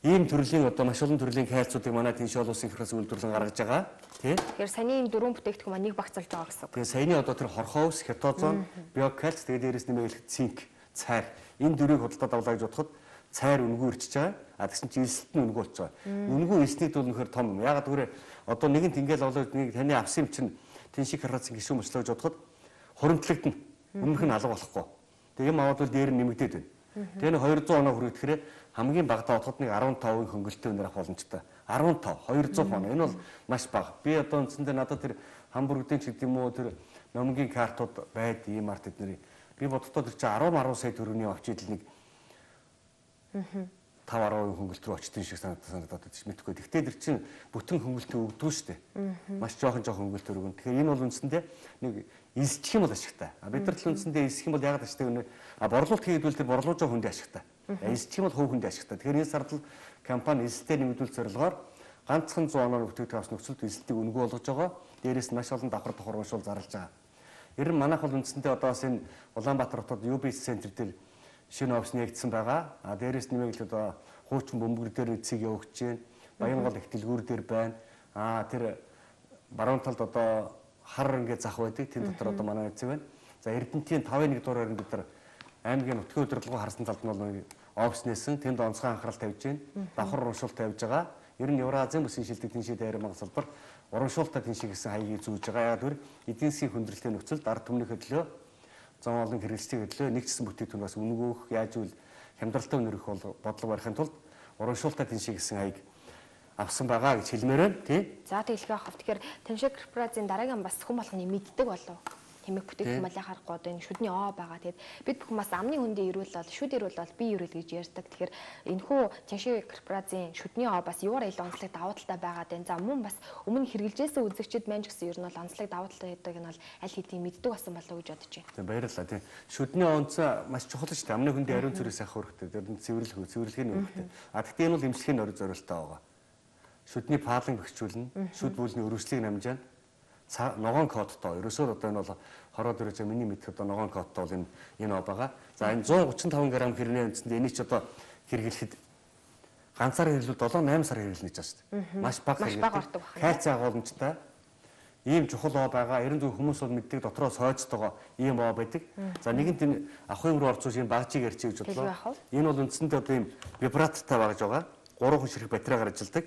ийм төрлийн одоо маш олон төрлийн кальцуудыг манай Тэншээ олон улсын хэрхээс үйлдвэрлэн гаргаж байгаа. Тий? Тэгэхээр саяны ийм дөрвөн бүтээгдэхүүн маань нэг багцалж байгаа гэсэн үг. Тэгээд саяны одоо тэр хорхоо ус, кетозон, биокальц тэгээд дээрээс нэмээд цинк, цайр энэ дөрвийг худалдаад авлаа гэж бодоход цайр үнгүй ирчихэж байгаа. А тэгсэн чинь эсэлт нь үнгүй болж байгаа. Үнгүй эснийд бол нөхөр том юм. Ягаад гэвэл одоо нэгэнт ингээл олоод нэг таны авсан юм чинь Тэншээ корпорацийн гишүүн мөчлөө гэж бодоход хуримтлагдана. Өмнөх нь алга болохгүй. Тэгээ юм аваад бол дээр нь нэмэгдээд байна. Тэгээ нэг хоёр зуун оноо хүргэхээр хамгийн багадаа бодоход нэг арван тавын хөнгөлөлтөй өнөр авах боломжтой. арван тав, хоёр зуун оноо. Энэ бол маш бага. Би одоо үндсэндээ надад тэр хамбургдын ч гэдэг юм уу тэр номгийн картууд байд ийм арт эднэрийг би бодохдоо тэр чинь арван арван сая төгрөгийн авч идэл нэг тав арван хөнгөлт рүү очтын шиг санагдаад санагдаад байна. Мэдхгүй. Гэхдээ тэр чинь бүтэн хөнгөлтөө өгдөг шүү дээ. Маш жоохон жоохон хөнгөлт өргөн. Тэгэхээр энэ бол үндсэндээ нэг эсчих юм бол ашигтай. А бид нар л үндсэндээ эсэх юм бол ягаад ашигтай вэ? А борлуулалт хийгдвэл тэр борлуулж байгаа хүндээ ашигтай. Эсчих юм бол хувь хүндээ ашигтай. Тэгэхээр энэ сард л компани эсэлтээр нэмэгдүүлэх зорилгоор ганцхан зуун оноо бүтээгдэхүүн авсан нөхцөлд эсэлтийг өнгө болгож байгаа. Дээрээс нь маш олон давхар давхар уушуул зарлаж байгаа. Ер нь манайх бол үндсэндээ одоо бас энэ Улаанбаатар хотод ю би эс центр дээр шинэ офис нэгдсэн байгаа. А дээрээс нэмээд л одоо хуучин бөмбөр дээр эцэг явуулж байна. Баянгол их дэлгүүр дээр байна. А тэр баруун талд одоо хар ингээд зах байдаг. Тэн дотор одоо манай эцэг байна. За Эрдэнэтийн тавын нэг дуурайр нь бид нар аймгийн нутгийн удирдлагын харсан талд нь бол офис нээсэн. Тэнд онцгой анхаарал тавьж байна. Давхар урамшуул тавьж байгаа. Ер нь Евразийн бүсийн шилдэг Тэншээ дайрын мангас салбар урамшуултаа Тэншээ гэсэн хаягийг зүүж байгаа. Яг түр эдийн засгийн хүндрэлтэй нөхцөлд ард түмнийхээ төлөө зам олон хэрэглэгчдийн төлөө нэгдсэн бүтээгдэхүүн бас үнгөөх яаж үл хямдралтай өнөрөх бол бодлого барихын тулд урамшуултаа Тэншээ гэсэн хаяг авсан байгаа гэж хэлмээр байна. Тий. За тэгэлгүй авах. Тэгэхээр Тэншээ корпорацийн дараагийн бас хүн болгоны мэддэг болов. Хэмээх бүтээгдэхүүн малын харахгүй одоо энэ шүдний оо байгаа. Тэгээд бид бүхэн бас амны хүндээ ирүүл бол шүд ирүүл бол би ирүүл гэж ярьдаг. Тэгэхээр энэхүү Тэншээ корпорацийн шүдний оо бас юугаар ил онцлог давуу талтай байгаа дээ. За мөн бас өмнө хэрэгжилжсэн үзэгчид маань ч гэсэн ер нь бол онцлог давуу талтай гэдэг нь бол аль хэдийн мэддэг болсон болов уу гэж бодож байна. Тийм баярлалаа. Тийм шүдний онц маш чухал шүү дээ. Амны хүндээ ариун зүрээс авах хэрэгтэй. Тэр нь цэвэрлэх цэвэрлэгийн хэрэгтэй. А гэхдээ энэ бол эмчилгээний орой зориултаа байгаа. Шүдний паалан бэхжүүлнэ. Шүд бүлний өрөвслийг намжаана. Ногоон кодтой. Ерөөсөө одоо энэ бол хороод ирэж миний мэдхэд одоо ногоон кодтой бол энэ энэ оо байгаа. За энэ зуун гучин таван грамм хэрнээ үндсэндээ энийг ч одоо хэрэглэхэд ганцаар хэрэглүүл долоо найман сар хэрэглэнэ гэж байна шүү дээ. Маш бага хэрэглэдэг. Кальци агуулмжтай ийм чухал оо байгаа. Ерөн зөв хүмүүс бол мэддэг дотроо сойцтойгоо ийм оо байдаг. За нэгэнт энэ ахуйн руу орцуулж ийм багжийг ярьчих гэж бодлоо. Энэ бол үндсэндээ одоо ийм вибратортай багж байгаа. Гурван хүн ширхэг батарейгаар ажилладаг.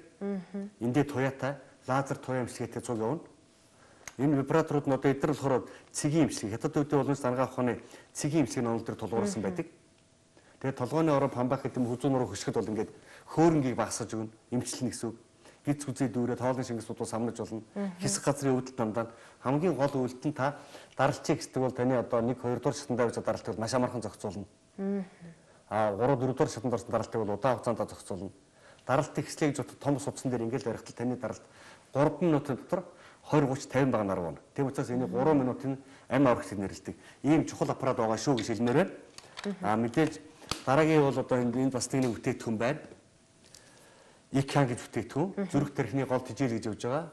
Эндээ туяатай лазер туяа эмчилгээтэй цуг явна. Энэ вибраторууд нь одоо эдгээр болохоор цэгийн эмчилгээ. Хятад үүдээ болон сангаа ухааны цэгийн эмчилгээний онол дээр тулгуурсан байдаг. Тэгээд толгойн ороо памбах гэдэг хүзүүн руу хөшгөд бол ингээд хөөрөнгийг багсаж өгнө. Эмчилнэ гэсэн үг. Гиз гүзээ дүүрээ тоолны шингэс бодвол самнаж болно. Хэсэг газрын үүдэл дандаа хамгийн гол үйлдэл нь та даралчийг гэдэг бол таны одоо нэг хоёр дугаар шатанд авч даралтыг бол маш амархан зохицуулна. Аа гурав дөрөв дугаар шатанд орсон даралтыг бол удаан хугацаанд зохицуулна. Даралт ихслээ гэж бодоход том судсан дээр ингээд барихтал таны даралт гурав минутын дотор двадцать тридцать пятьдесят багаар нарвна. Тийм учраас энэ три минутын амь аврагтыг нэрлэдэг. Ийм чухал аппарат байгаа шүү гэж хэлмээр байна. Аа мэдээж дараагийн бол одоо энэ бас нэг бүтээгдэхүүн байна. ИК-ан гэж бүтээгдэхүүн. Зүрх тархины гол тижэл гэж явж байгаа.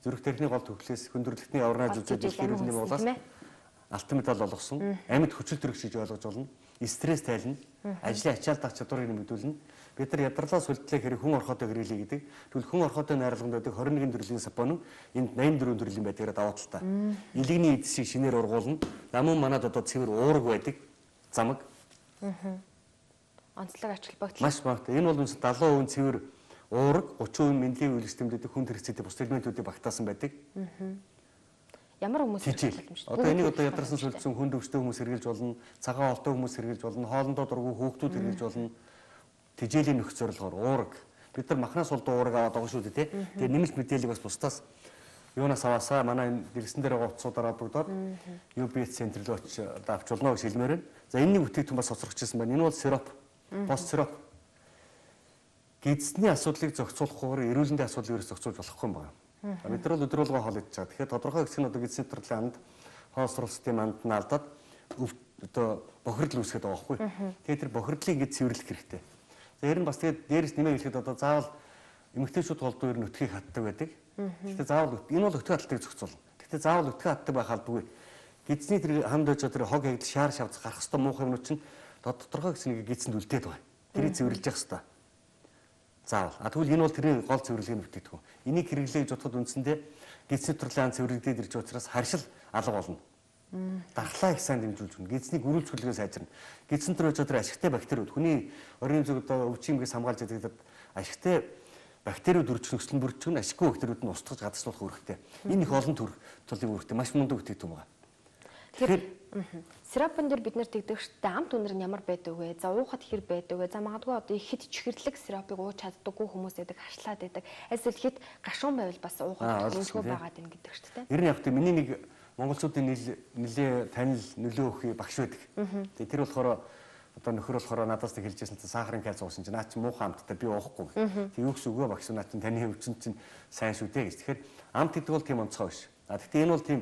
Зүрх тархины гол төвлөлөөс хүндрэлтний авраа зүжиж хэлхэрүүлний болоос алтан медаль олгосон. Амьд хүчил төрөгч гэж ойлгож болно. Стресс тайлна. Ажлын ачаал дах чадварыг нэмэгдүүлнэ. Бид нар ядралаа сүлтлээ хэрэг хүн орхотой хэрэглэе гэдэг. Тэгвэл хүн орхотой найрлаганд байдаг двадцать one төрлийн сапон энд восемьдесят four төрлийн байдгаар даваа талтай. Илэгний эдсийг шинээр ургуулна. Намун манад одоо цэвэр уураг байдаг. Замаг. Аа. Онцлог ач холбогдол. Маш багтай. Энэ бол үнс seventy percent цэвэр уураг, thirty percent мэндийн үйл системдүүд хүн хэрэгцээтэй бус элементүүдийг багтаасан байдаг. Аа. Ямар хүмүүс хэрэглэж байна? Одоо энийг одоо ядарсан сүлдсэн хүн төвчтэй хүмүүс хэрэглэж болно. Цагаан олтой хүмүүс хэрэглэж болно. Хоолндоо дургүй хүүхдүүд хэрэглэж болно. Тижээлийн нөхц зорилгоор уураг. Бид нар махнаас улдуу уураг аваад байгаа шүү дээ, тий. Тэгээ нэмэлт мэдээллийг бас бусдаас юунаас аваасаа манай дэргэсэн дээр байгаа утсуудаараа бүгдод ю би эс центр рүү очиж авч болно гэж хэлмээр байна. За энэний бүтээгдэхүүн бас хоцрогчсон байна. Энэ бол сироп. Пост сироп. Гидсний асуудлыг зохицуулахгүйгээр эрүүл мэндийн асуудлыг ерөөс зохицуулж болохгүй юм байна. Бид нар бол өдөр болгоо хоол идэж байгаа. Тэгэхээр тодорхой хэсэг нь одоо гидсний төрлийн анд хоос суралцтын анд нь алдаад одоо бохирдол үүсгээд байгаа байхгүй. Тэгэхээр тэр бохирдлыг ингэж цэвэрлэх хэрэгтэй. Тэр нь бас тэгээд дээрээс нэмээ хэлэхэд одоо заавал эмэгтэйчүүд голдуу ер нь өтгийг хатдаг байдаг. Гэхдээ заавал энэ бол өтгөө хаттыг зохицуулна. Гэхдээ заавал өтгөө хатдаг байх албагүй. Гидсний тэр хамд байж тэр хог хягдал шаар шавц гарах хэвээр муухай юмнууд чинь тодорхой гэсэн нэг гидсэнд үлдээд байгаа. Тэрийг цэвэрлж явах хэвээр. Заавал. А тэгвэл энэ бол тэрний гол цэвэрлэгийн бүтээгдэхүүн. Энийг хэрэглэж бодоход үндсэндээ гидсний төрлийн ан цэвэрлэгдээд ирж учраас харшил алга болно. Дархлаа их сайн дэмжүүлж өгнө. Гидсний гөрүүл чөлөөс сайжирна. Гидсэн төр байж тэр ашигтай бактериуд хүний орон зүг одоо өвчин юмгээс хамгаалж байдаг ашигтай бактериуд үржих нөхцөл нь бүрдчихнэ. Ашиггүй бактериуд нь устгаж гадагшлуулах үүрэгтэй. Энэ их олон төр төлөв үүрэгтэй. Маш мундаг бүтээгдэхүүн байна. Тэгэхээр сиропон дээр бид нэр тэгдэгчтэй амт үнэр нь ямар байдаг вэ? За уухад хэр байдаг вэ? За магадгүй одоо их хэд чихэрлэг сиропыг ууж чаддаггүй хүмүүс байдаг, хашлаад байдаг. Эсвэл хэд гашуун байвал бас уухад нөлөө байгаад байна гэдэгчтэй. Ер нь яг тийм миний нэг монголчуудын нэлээ танил нөлөө өгөх багш байдаг. Тэгээ тэр болохоор одоо нөхөр болохоор надаас нэг хэлжсэн чинь сахарын калц уусан чинь наа чи муухай амттай би уухгүй. Тэг юу гэсэн үгүй багш наа чи таны өвчин чинь сайн шүү дээ гэж. Тэгэхээр амт гэдэг бол тийм онцгой биш. А гэхдээ энэ бол тийм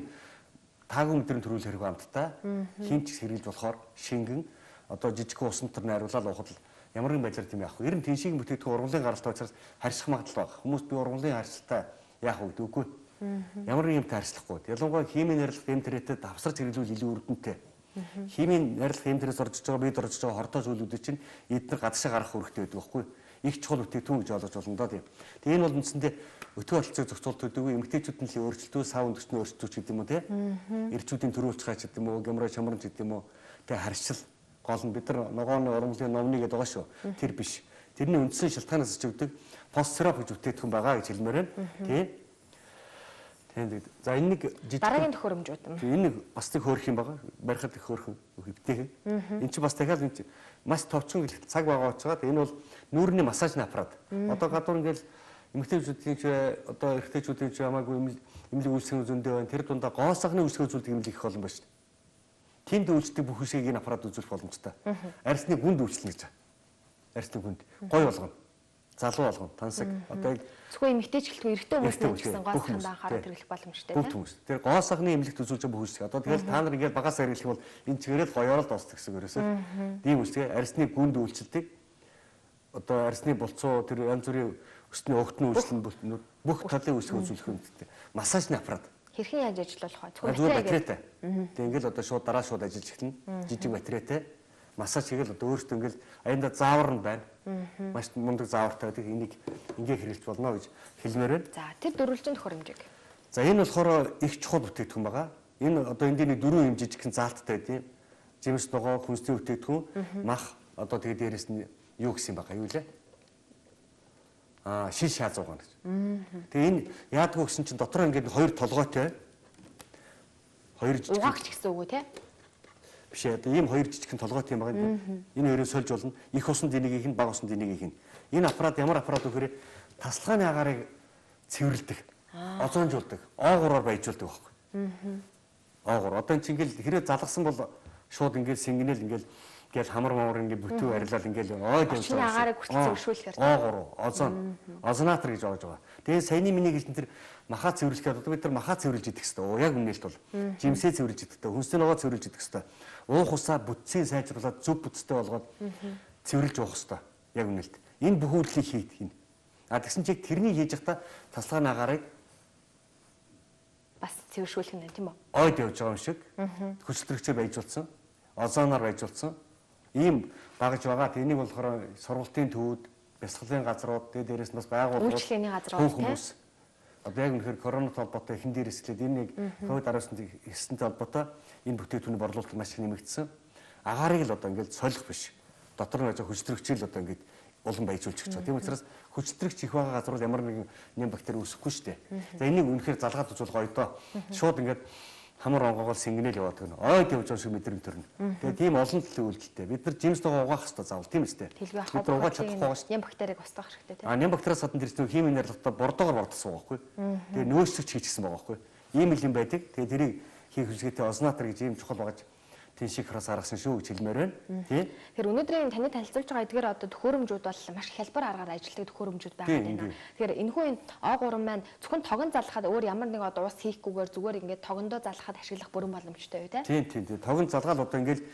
таагүй мэдрэмж төрүүл хэрэг амттай. Хинч хэрглэж болохоор шингэн одоо жижиг усан төр найруулаад уухад ямар нэгэн байдлаар тийм яах вэ? Ер нь тэншиг бүтээгдэхүүн ургамлын гаралтай учраас харьцах магадлал байна. Хүмүүс би ургамлын харьцалтай яах вэ гэдэг үгүй. Ямар нэг юмтай харьцлахгүй. Ялангуяа химийн найрлах эмтэрэтэд давсарч хэрэглүүл илүү өрдөнтэй. Химийн найрлах эмтэрээс орж байгаа бид орж байгаа хордоо зүйлүүдийг чинь эдгээр гадагшаа гарах үүрэгтэй байдаг байхгүй. Их чухал бүтээгдэхүүн гэж ойлгож болно доо тийм. Тэгээ энэ бол үндсэндээ өтгөө болцоог зохицуулт төдийгүй эмэгтэйчүүд нь л өөрчлөлтөө сав өндөрчний өөрчлөлт гэдэг юм уу тийм. Ирчүүдийн төрүүлж гаач гэдэг юм уу, гямраа шамранч гэдэг юм уу. Тэгээ харьцал гол нь бид нар ногооны ургамлын номны гэдэг байгаа шүү. Тэр биш. Тэрний үндсэн шалтгаанаас чигдэг постсироп гэж бүтээгдэхүүн байгаа гэж хэлмээр байна. Тийм. Тэгээд за энэ нэг жижиг дараагийн төхөөрөмжүүд юм. Энэ нэг бас нэг хөөрөх юм байгаа. Барихад их хөөрхөн хөвтэйхэн. Энд чинь бас дахиад энэ маш товчхон цаг байгаа учраас энэ бол нүүрний массажны аппарат. Одоо гадуур ингээл эмэгтэйчүүдийн ч одоо эрэгтэйчүүдийн ч хамаагүй эмнэлэг үйлсийн зөндөө байна. Тэр дундаа гоосгоны үйлсийн зүйлдэг эмнэлэг их олон байна шүү дээ. Тэнд үйлчдэг бүх хүсийг энэ аппарат үзүүлэх боломжтой. Арьсны гүнд үйлчлэнэ гэж. Арьсны гүнд гой болгоно. Залуу болгоно. Тансаг одоо зөвхөн эмэгтэйч гэлтгүй эрэгтэй хүмүүс гэсэн гоосгонд анхаарал хэрэглэх боломжтой тийм. Бүх хүмүүс. Тэр гоосгоны эмнэлэгт үзүүлж байгаа бүх хүсийг. Одоо тэгэл та нар ингээд багаас хэрэглэх бол энэ чигээрэл гоёорол дуусдаг гэсэн ерөөсөө. Тийм үсгээ арьсны гүнд үйлчлдэг. Одоо арьсны болцоо тэр янз бүрийн өсний өгтний үйлчлэн бүх талын үсгийг үзүүлэх юмтэй. Массажны аппарат. Хэрхэн яаж ажиллах вэ? Зөвхөн батарейтай. Тэг ингээл одоо шууд дараа шууд ажиллаж эхэлнэ. Жижиг батарейтай. Массаж хийгээл одоо өөртөө ингээл аяндаа заавар нь байна. Маш мундаг заавартай байдаг. Энийг ингээ хэрэглэж болно гэж хэлмээр байна. За тэр дөрвөлжин төхөөрөмжийг. За энэ болохоор их чухал бүтээгдэхүүн байгаа. Энэ одоо эндийн дөрвөн юм жижигхэн заалттай тийм. Жимс ногоо хүнсний бүтээгдэхүүн, мах одоо тэгээ дээрэс нь юу гэсэн юм байгаа юу лээ? Аа шиш шаазуугаа гэж. Тэгээ энэ яадгүй гэсэн чинь дотор ингээд хоёр толгойтой. Хоёр жижиг. Угаагч гэсэн үг үү те? Биш ээ. Одоо ийм хоёр жижигхэн толгойтой юм байгаа юм. Энэ хоёрыг сольж болно. Их усанд энийг их нь, бага усанд энийг их нь. Энэ аппарат ямар аппарат вэ гэхээр тасалгааны агаарыг цэвэрлэдэг, озоонжуулдаг, оогураар баяжуулдаг байхгүй. Оогур. Одоо энэ чинь ингээл хэрэг залгасан бол шууд ингээл сингэнэл ингээл ингээл хамар мамар ингээл бүтэн арилал ингээл ойд юм чинь агаарыг хүртэл зөвшөөрүүлэхээр оогур, озон, озонатор гэж оож байгаа. Тэгээ саяны миний гэлтэн тэр махаа цэвэрлэхэд одоо бид тэр махаа цэвэрлж идэх хэвээр. Яг үнэлт бол жимсээ цэвэрлж идэх хэвээр, хүнсний ногоо цэвэрлж идэх хэвээр. Уух усаа бүтцийг сайжруулад зөв бүтцтэй болгоод цэвэрлж уух хэвээр. Яг үнэлт. Энэ бүх үйлдэлийг хийх юм. А тэгсэн чиг тэрний хийж явахдаа тасалгааны агаарыг бас цэвэршүүлэх нь тийм үү? Ойд явж байгаа юм шиг. Хүчлэрэгчээр баяжуулсан, озоноор баяжуулсан. Ийм багж байгаа. Энийг болохоор сургалтын төвүүд, бясалгалын газрууд, тэгээ дээрээс нь бас байгууллагууд, үйлчлэгээний газрууд хүмүүс. Одоо яг үнэхээр коронавитой холбоотой эхэн дээр эсгэлээд энэ нэг ковид дөрвөн эсэнтэй холбоотой энэ бүтээгдэхүүний борлуулалт маш их нэмэгдсэн. Агаарыг л одоо ингээд солих биш. Дотор нь байж хүчлэрэгчээр л одоо ингээд улам баяжуулж гэж байгаа. Тийм учраас хүчлэрэгч их байгаа газрууд ямар нэгэн нэм бактери үүсэхгүй шүү дээ. За энийг үнэхээр залгаад үзүүл гоё доо. Шууд ингээд хамар онгоогоор сингэнэл яваад гэнэ. Ойд явж байгаа шиг мэдрэмт төрнө. Тэгээ тийм олон төлөв үйлдэлтэй. Бид нар жимс ногоо угаах хэрэгтэй заавал тийм үстэй. Бид нар угааж чадахгүй байгаа шүү дээ. Нэм бактерийг устгах хэрэгтэй тийм. А нэм бактериас гадна тэр чинь химийн найрлагатай бордоогоор бордсон байгаа байхгүй. Тэгээ нөөцлөгч хийчихсэн байгаа байхгүй. Ийм л юм байдаг. Тэгээ тэрийг хийх хүсгээтэй озонатор гэж ийм чухал багаж тэншиг хараас гаргасан шүү гэж хэлмээр байна. Тийм. Тэгэхээр өнөөдрийн таны танилцуулж байгаа эдгээр одоо төхөөрөмжүүд бол маш хялбар аргаар ажилтдаг төхөөрөмжүүд байгаа юм байна. Тэгэхээр энэхүү энэ О гурван маань зөвхөн тогон залгахад өөр ямар нэг одоо ус хийхгүйгээр зүгээр ингээд тогондоо залгахад ашиглах бүрэн боломжтой юу те? Тийм тийм тийм. Тогон залгаал одоо ингээд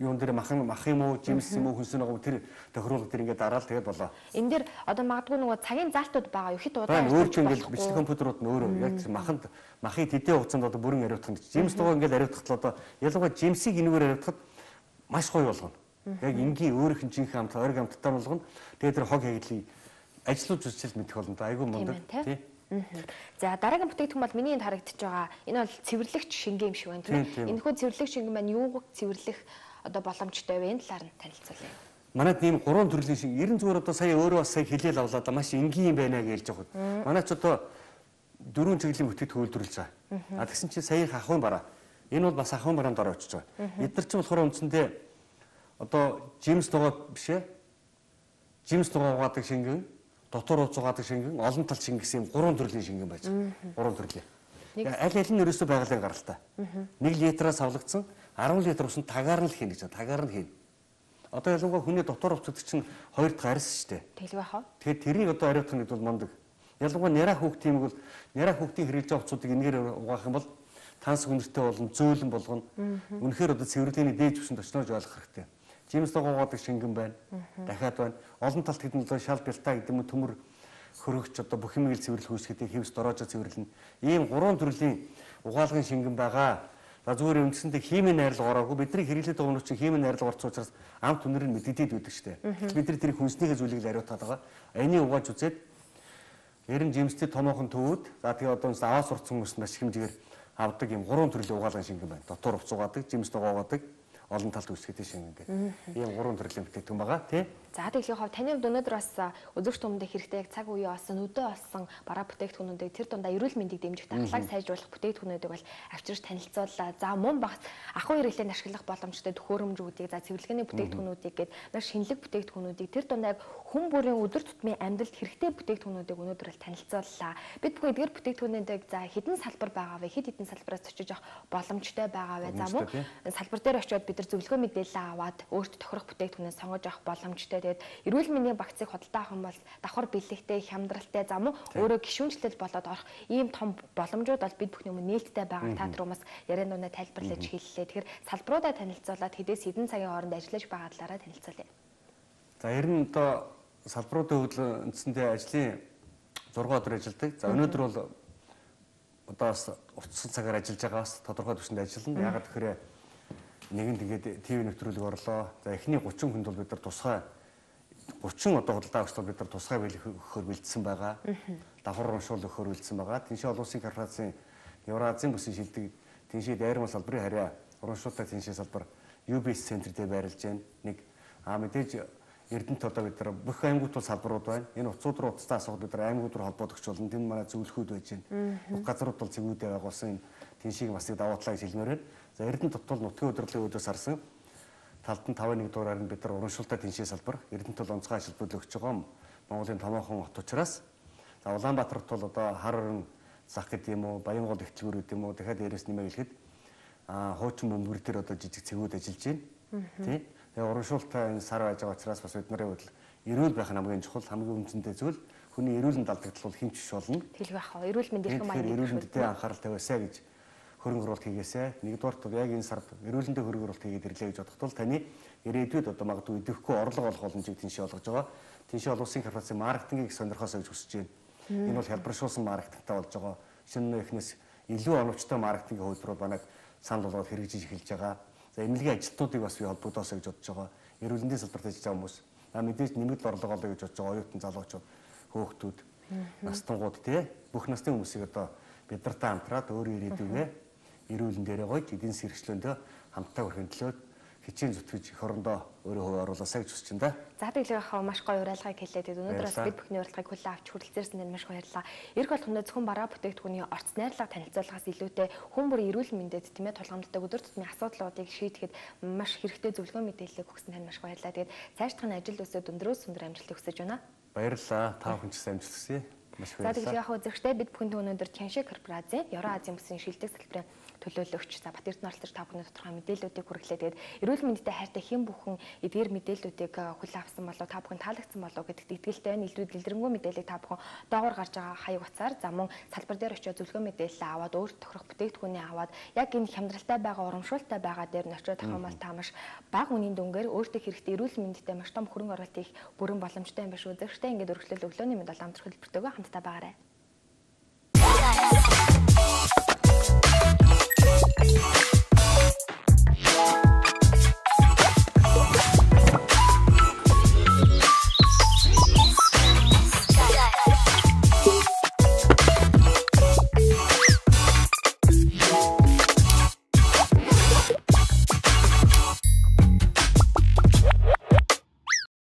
юун дээр махан мах юм уу, жимс юм уу, хүнсэн байгаа тэр тохируулга тэр ингээд дараал тэгээд болоо. Энэ дээр одоо магадгүй нөгөө цагийн залтууд байгаа юу? Хит удаан өөрчлөн ингээд бичлэг компьютерууд нь өөрөө яг тэр маханд махыг тэдний хугацаанд одоо бүрэн ариутгах нь жимс дугаа ингээд ариутгахад одоо ялангуяа жимсийг энэгээр ариутгахад маш гоё болгоно. Яг энгийн өөрийнх нь жинхэнэ хамт ориг хамттай болгоно. Тэгээд тэр хог хаягдлыг ажиллаж үзчихэл мэдэх болно. Айгүй мундаг тий. За дараагийн бүтээгдэхүүн бол миний энд харагдаж байгаа. Энэ бол цэвэрлэгч шингээ юм шиг байна тийм ээ. Энэхүү цэвэрлэгч шингэн маань юуг цэвэрлэх одоо боломжтой вэ? Энэ талаар нь танилцуулъя. Манайд ийм гурван төрлийн шингээ ерэн зүгээр одоо сая өөрөө бас сая хэлээл авлаа да маш энгийн юм байна гэж хэлж байгаа. Манай ч одоо дөрвөн чиглэлийн бүтээгдэхүүн үйлдвэрлэж байгаа. А тэгсэн чинь саяын ахуйн бараа. Энэ бол бас ахуйн бараанд ороо очиж байгаа. Эдгээр чинь болохоор үндсэндээ одоо жимс дугаа биш ээ. Жимс дугаа угаадаг шингэн, дотор ууц угаадаг шингэн, олон тал шингэн гэсэн гурван төрлийн шингэн байж байгаа. Гурван төрлийн. Аль аль нь ерөөсөө байгалийн гаралтай. нэг литраас авлагдсан арван литр усан тагаар нь л хийнэ гэж байна. Тагаар нь хийнэ. Одоо ялангуяа хүний дотор ууц гэдэг чинь хоёр дахь арьс шүү дээ. Тэлгүй хаа. Тэгэхээр тэрийг одоо ариутгах нь бол мондөг. Ялангуяа няраа хүүхдийн юм бол няраа хүүхдийн хэрэглэж байгаа уцуудыг энэгээр угаах юм бол танс хүнэртэй болон зөөлөн болгоно. Үнэхээр одоо цэвэрлэгийн дээд түвшинд очноож ойлгох хэрэгтэй. Жимс дугаагаад шингэн байна. Дахиад байна. Олон талт хэдэн одоо шал бялтаа гэдэг юм төмөр хөрөгч одоо бүх юмыг цэвэрлэх үүсгэдэг хэвс дороожо цэвэрлэнэ. Ийм гурван төрлийн угаалгын шингэн байгаа. За зүгээр үндсэндээ химийн найрлага ороогүй бидний хэрэглээд байгаа хүмүүс чинь химийн найрлага орсон учраас амт үнэр нь мэддэд байдаг шүү дээ. Бид нар тэрийг хүнснийхээ зүйлийг л ариутаад байгаа. Энийг угааж үзээд ер нь жимстэй томоохон төвүүд за тэгээ одоо аваа сурцсан хүмүүс маш хэмжээгээр авдаг ийм гурван төрлийн угаалгын шингэн байна. Дотор хувц угаадаг, жимс дугаагаад олон талд үүсгэдэг шингэн гэх. Ийм гурван төрлийн бүтээгдэхүүн байгаа тий. За тэглэх хав таны хувьд өнөөдөр бас үзэгч түмэндээ хэрэгтэй яг цаг үеийн олсон өдөө олсон бараа бүтээгдэхүүнүүдийг тэр дундаа эрүүл мэндийг дэмжих дархлааг сайжруулах бүтээгдэхүүнүүдийг бол авчирч танилцууллаа. За мөн багц ахуй хэрэглээнд ашиглах боломжтой төхөөрөмжүүдийг за цэвэрлэгээний бүтээгдэхүүнүүдийг гээд маш шинэлэг бүтээгдэхүүнүүдийг тэр дундаа хүн бүрийн өдөр тутмын амьдралд хэрэгтэй бүтээгдэхүүнүүдийг өнөөдөр л танилцууллаа. Бид бүхэн эдгээр бүтээгдэхүүнүүдийг за хэдэн салбар байгаа вэ? Хэд хэдэн салбараас очиж авах боломжтой байгаа вэ? За мөн салбар дээр очиод бид нар зөвлөгөө мэдээлэл аваад өөртөө тохирох бүтээгдэхүүнээ сонгож авах боломжтой. Тэгээд эрүүл мэндийн багцыг худалдаа авах юм бол давхар бэлэгтэй, хямдралтай, за мөн өөрөө гишүүнчлэл болоод орох ийм том боломжууд бол бид бүхний өмнө нээлттэй байгаа. Та түрүүмээс яриан дундаа тайлбарлаж хэллээ. Тэгэхээр салбаруудаа танилцуулаад хэдээс хэдэн цагийн хооронд ажиллаж байгаа талаараа танилцуулъя. За ер нь одоо салбаруудын хөвлө үндсэндээ ажлын зураг өдөр ажилладаг. За өнөөдөр бол одоо бас утсан цагаар ажиллаж байгаа бас тодорхой түвшинд ажиллана. Ягаад гэхээр нэгэнд тэгээд ТV нэвтрүүлэг орлоо. За эхний гучин хүнд бол бид нар тусгай гучин одоо худалдаа авчлал бид нар тусгай өгөхөөр бэлдсэн байгаа. Давхар урамшуул өгөхөөр бэлдсэн байгаа. Тиншээ олон улсын корпорацийн Евразийн бүсийн шилдэг тиншээ дайрмал салбарын харьяа урамшуултай тиншээ салбар ю би эс центр дээр байрлаж байна. Нэг аа мэдээж Эрдэнэт одоо бид нар бүх аймагуд бол салбарууд байна. Энэ уцууд руу уцтаа асуух бид нар аймагуд руу холбоодогч болно. Тэнд манай зөвлөхүүд байж байна. Бүх газрууд бол зэгүүдээ байгуулсан тиншийг бас даваатлаа гэж хэлмээр байна. За Эрдэнэт бол нутгийн удирдлагын өдөөс харсан талд нь тавын нэг дуурайнд бид нар урамшуултай тиншээ салбар Эрдэнэт бол онцгой ажилтнууд өгч байгаа Монголын томоохон хот учраас за Улаанбаатарт бол одоо хар орон зах гэдэг юм уу, Баянгол ихтлгүүр гэдэг юм уу, дахиад дээрээс нэмээ хэлэхэд аа хуучин бөмбөр дээр одоо жижиг цэгүүд ажиллаж байна. Тий. Тэгээ урамшуултай энэ сар байж байгаа учраас бас бид нарын хувьд эрүүл байх нь хамгийн чухал, хамгийн үнцэнтэй зүйл. Хүний эрүүл мэнд алдагдвал хинч биш болно. Тэгэл байх аа. Эрүүл мэнд ирэх юм аа. Эрүүл мэндэд анхаарал тавиасаа гэж хөрөнгө оруулалт хийгээсэ. Нэгдүгээрт бол яг энэ сард эрүүлэндээ хөрөнгө оруулалт хийгээд ирлээ гэж бодоход бол таны ирээдүйд одоо магадгүй идэвхгүй орлого олох боломжийг тэншээ олгож байгаа. Тэншээ олон улсын корпорацийн маркетингийг сонирхосоо гэж хүсэж байна. Энэ бол хялбаршуулсан маркетингтай болж байгаа. Шинэ эхнээс илүү оновчтой маркетингийн хувьд банаг санал болгоод хэрэгжиж эхэлж байгаа. За эмнэлгийн ажилтнуудыг бас би холбогдоосоо гэж бодож байгаа. Эрүүлэндийн салбарт ажиллаж байгаа хүмүүс аа мэдээж нэмэгдэл орлого олё гэж бодож байгаа оюутан залуучууд, хөөхтүүд, настангууд тий бүх насны хүмүүсийг одоо бид нартай хамтраад өөрийн ирээдүйгээ эрүүлэн дээрээ гойж эдийн засгийн хэрэгчлөөндөө хамтдаа хүрхэн төлөөд хичээн зүтгэж их орондоо өөрөө хувь оруулаасаа гэж хүсэж байна да. За тэглэх хаа маш гоё урайлгыг хэлээд өнөөдөр бас бид бүхний урилгыг хүлээн авч хүрэлцээрсэн нь маш баярлалаа. Ирэх болгондоо зөвхөн бараа бүтээгдэхүүний орц найрлага танилцуулгаас илүүтэй хүн бүрийн эрүүл мэндэд тийм ээ тулгамддаг өдөр тутмын асуудлуудыг шийдэхэд маш хэрэгтэй зөвлөгөө мэдээлэл өгсөн тань маш баярлалаа. Тэгээд цаашдах нь ажил өсөд өндрөөс өндөр амжилт хүсэж байна. Баярлалаа. Та бүхэн ч амжилт хүсье. Маш баярлалаа. За тэглэх хаа үзэгчтэй бид бүхэнд өнөөдөр Чанши корпорацийн Евразийн бүсийн шилдэг салбарын төлөөлөгч за Бат Эрдэнэ оролцож та бүхэнд тодорхой мэдээллүүдийг хүргэлээ. Тэгээд эрүүл мэндэд хайртай хэн бүхэн эдгээр мэдээллүүдийг хүлээн авсан болов та бүхэн таалагдсан болов гэдэгт итгэлтэй байна. Илүү дэлгэрэнгүй мэдээллийг та бүхэн доогоор гарч байгаа хаяг утсаар за мөн салбар дээр очиод зөвлөгөө мэдээлэл аваад өөр тохирох бүтээгдэхүүнээ аваад яг энэ хямдралтай байгаа урамшуултай байгаа дээр нь очиод ахмал та маш бага үнийн дүнгээр өөртөө хэрэгтэй эрүүл мэндэд маш том хөрөнгө оруулалт хийх бүрэн боломжтой юм биш үү? Зөвхөн ингээд өргөжлөл өглөөний мэд бол амтрах хэлбэртэйгээ хамтдаа байгаарай.